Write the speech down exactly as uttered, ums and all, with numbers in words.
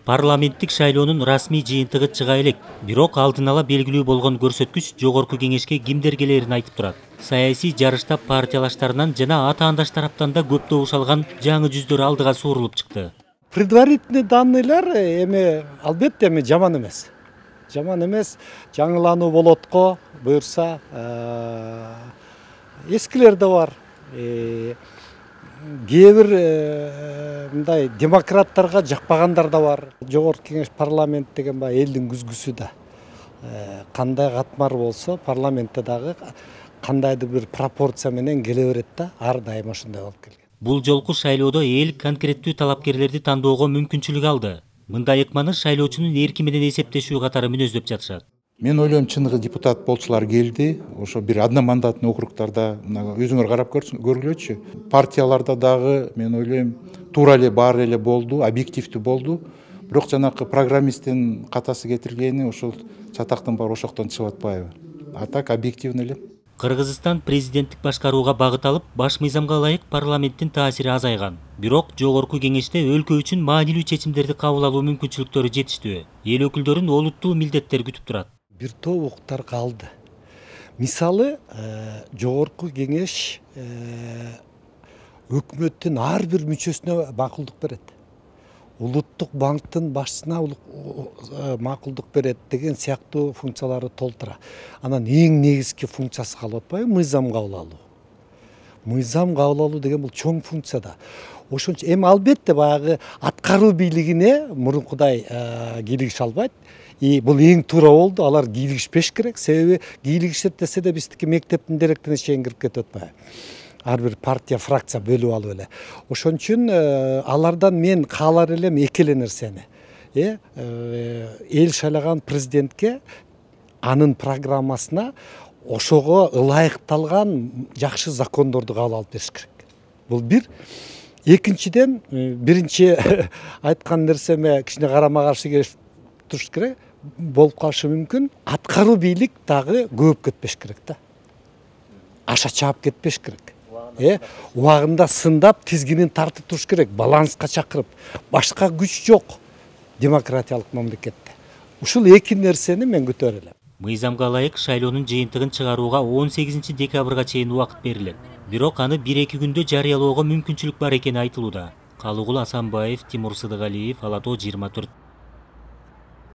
Парламенттик шайлоонун расмий жыйынтыгы чыга элек, бирок алдын ала белгилүү болгон көрсөткүч жогорку кеңешке кимдер келерин айтып турат. Саясий жарышта партиялаштарынан жана атаандаш тараптан да көп добуш алган жаңы жүздөр алдыга суурулуп чыкты. Предварительный данныйлар эми албетте эми жаман эмес. Жаман эмес, жаңылануу болот го, буюрса, эскилер да бар. Кээ бир мындай демократтарга жакпагандар да бар. Жогорку кеңеш парламент деген баягы элдин күзгүсү да. Кандай катмар болсо, парламентте дагы кандайдыр бир пропорция менен келе берет да, ар дайым ошондой болуп келген. Бул жолку шайлоодо эл конкреттүү талапкерлерди тандоого мүмкүнчүлүк алды. Мындай ыкманы шайлоочунун эрки менен эсептешүү катары мүнөздөп жатышат. Мен ойлойм, чыныгы депутат болчулар келди. Ошо бир одномандатный округтарда өзүңөр карап көргүлөчү. Партияларда дагы мен ойлойм туура эле баары эле болду, объективдүү болду. Бирок жанакы программисттин катасы кетиргени ошол чатактын баары ошоктон чыгып атпайбы? А так объективный эле. Кыргызстан президенттик башкарууга багыт алып, баш мыйзамга ылайык парламенттин таасири азайган. Бирок жогорку кеңеште өлкө үчүн маанилүү чечимдерди кабыл алуу мүмкүнчүлүктөрү жетиштүү. Эл өкүлдөрүн олуттуу милдеттер күтүп турат. Бир топ укуктар калды. Мисалы, жогорку кеңеш өкмөттүн ар бир мүчөсүнө макулдук берет. Улуттук банктын башчысына макулдук берет деген сыяктуу функцияларды толтура. Анан эң негизги функциясы калып атпайбы? Мыйзам кабыл алуу. Мыйзам кабыл алуу деген бул чоң функция да. Ошон үчүн эми албетте баягы аткаруу бийлигине мурункудай кийлигише албайт. И бул эң туура болду. Алар кийлигишпеш керек. Себеби кийлигишет десе да биздики мектептин директоруна чейин кирип кетип атпайбы? Ар бир партия, фракция бөлүп алып эле. Ошон үчүн алардан мен каалар элем эки эле нерсени. Эл шайлаган президентке анын программасына ошого ылайыкталган жакшы закондорду кабыл алып бериш керек. Бул бир. Экинчиден, биринчи айткан нерсеме кичине карама каршы келип туруш керек. Болуп калышы мүмкүн. Аткаруу бийлик дагы көп кетпеш керек да. Аша чаап кетпеш керек. Убагында сындап, тизгинин тартып туруш керек, баланска чакырып. Башка күч жок демократиялык мамлекетте. Ушул эки нерсени мен күтөр элем. Мыйзамга ылайык шайлоонун жыйынтыгын чыгарууга он сегизинчи декабрга чейин убакыт берилет. Бирок аны бир-эки күндө жарыялоого мүмкүнчүлүк бар экени айтылууда. Калыгул Асанбаев, Тимур Сыдыгалиев, Ала тоо жыйырма төрт.